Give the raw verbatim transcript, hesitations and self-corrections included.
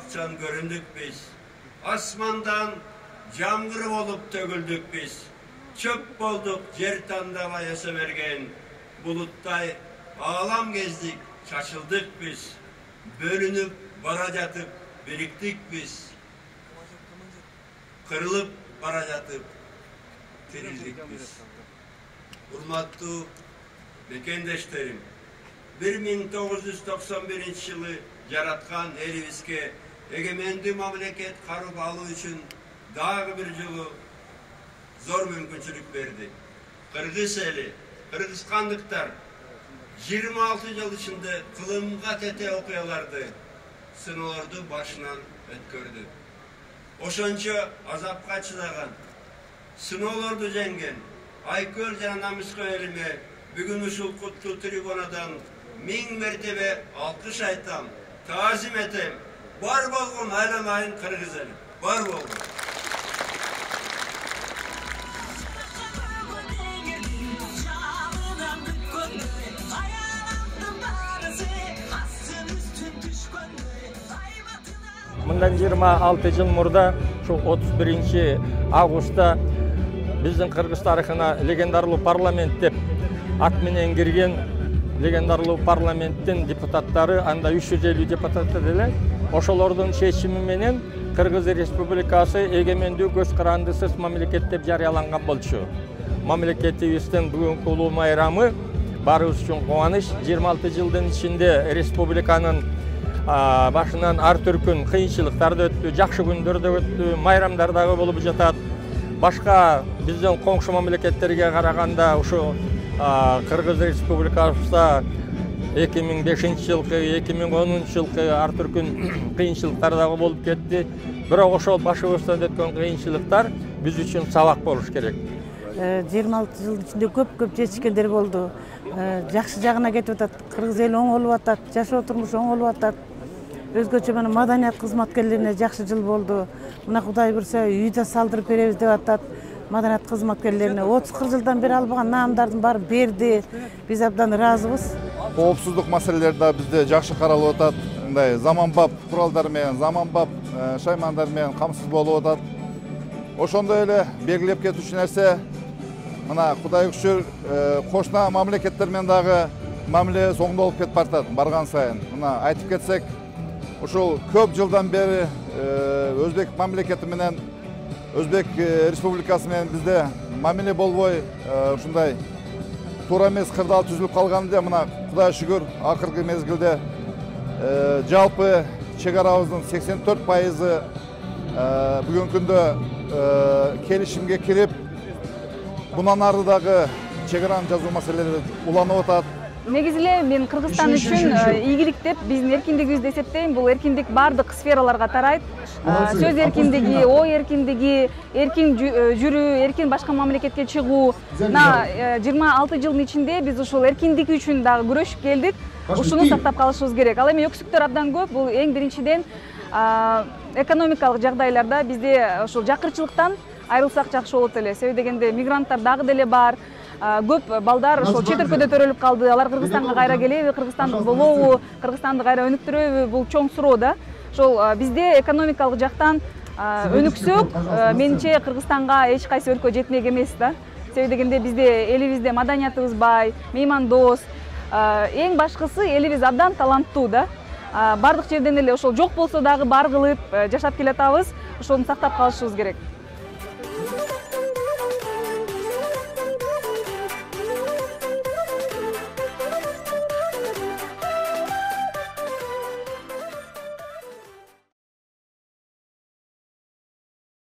акчан көрүндүк биз. Асмандан жамгыр болуп төгүлдүк биз. Чөп болдук жер тандабай өсө берген. Булуттай аалам кездик, чачылдык биз. Бөлүнүп бара жатып бириктик биз. Кырылып бара жатып тирилдик биз. Урматтуу мекендештерим, бир миң тогуз жүз токсон биринчи жылы жараткан элибизге эгемендүү мамлекет карып алуу үчүн дагы бир жолу зор мүмкүнчүлүк берди. Кыргыз эли, кыргызстандыктар жыйырма алты жыл ичинде кылымга тете окуяларды, сыноолорду башынан өткөрдү. Ошончо азапка чыдаган, сыноолорду жеңген Айкөл жана Намыскө элиме бүгүн ушул куттуу трибунадан миң мертебе алкыш айтам, таазим этем. Бар болгон айламайын кыргыз эли. Бар болгон. Мындан жыйырма алты жыл мурда, ушул отуз биринчи августта биздин Кыргыз тарыхына легендарлуу парламент деп ат менен кирген легендарлуу парламенттин депутаттары, анда үч жүз элүү депутат эле, ошолордун чечими менен Кыргыз Республикасы эгемендүү көз карандысыз мамлекет деп жарыяланган болчу. Мамлекетибиздин бүгүнкү улуу майрамы баарыбыз үчүн кубаныч. жыйырма алты жылдын ичинде республиканын башынан ар түркүн кыйынчылыктарды өттү, жакшы күндөрдө өттү, майрамдар дагы болуп жатат. Башка биздин коңшу мамлекеттерге караганда ушу Кыргыз Республикасында эки миң бешинчи жылкы, эки миң онунчу жылкы ар түркүн кыйынчылыктар дагы болуп кетти. Бирок ошол башыбыздан өткөн кыйынчылыктар биз үчүн сабак болуш керек. жыйырма алты жылдын ичинде көп-көп жетишкендер болду. Жакшы жагына кетип атат. Кыргыз эли оңолуп атат, жашоо турмушу оңолуп атат. Өзгөчө мына маданият кызматкерлерине жакшы жыл болду. Мына Кудай буйрса үй да салдырып беребиз деп атат. Маданият кызматкерлерине отуз кырк жылдан бери албаган наамдардын баарын берди. Биз абдан ыраазыбыз. Коопсуздук маселелери да бизде жакшы каралып атат. Мындай заманбап куралдар менен, заманбап шаймандар менен камсыз болуп атат. Ошондой эле белгилеп кетүүчү нерсе, мына Кудайга шүгүр, кошуна мамлекеттер менен дагы мамилебиз оңдолуп кетип баратат барган сайын. Мына айтып кетсек, ушул көп жылдан бери Өзбек мамлекети менен Өзбек Республикасы менен бизде мамиле болбой, ушундай туура эмес кырдаал түзүлүп калганда, мына Кудайга шүгүр, акыркы мезгилде жалпы чек арабыздын сексен төрт пайызы бүгүнкү күндө келишимге кирип, мындан ары дагы чек араны жазуу маселелери уланып атат. Негизи эле мен Кыргызстан үчүн ийгилик деп биздин эркиндигибизди эсептейм. Бул эркиндик бардык сфераларга тарайт. Сөз эркиндиги, ой эркиндиги, эркин жүрүү, эркин башка мамлекетке чыгуу. Мына жыйырма алты жылдын ичинде биз ушул эркиндик үчүн дагы күрөшүп келдик. Ушуну сактап калышыбыз керек. Ал эми өксүктөр абдан көп. Бул эң биринчиден экономикалык жагдайларда бизде ушул жакырчылыктан айрылсак жакшы болот эле. Себеби дегенде мигранттар дагы деле бар. Көп балдар ошол чет өлкөдө төрөлүп калды. Алар Кыргызстанга кайра келеби, кыргызстандык болобу, Кыргызстанды кайра өнүктүрөбү? Бул чоң суроо да. Ошол бизде экономикалык жактан өнүксөк, менимче Кыргызстанга эч кайсы өлкө жетмек эмес да. Себеби дегенде бизде элибизде маданиятыбыз бай, меймандос. Эң башкысы элибиз абдан таланттуу да. Бардык жерден эле ошол жок болсо дагы бар кылып жашап келатабыз. Ошону сактап калышыбыз керек.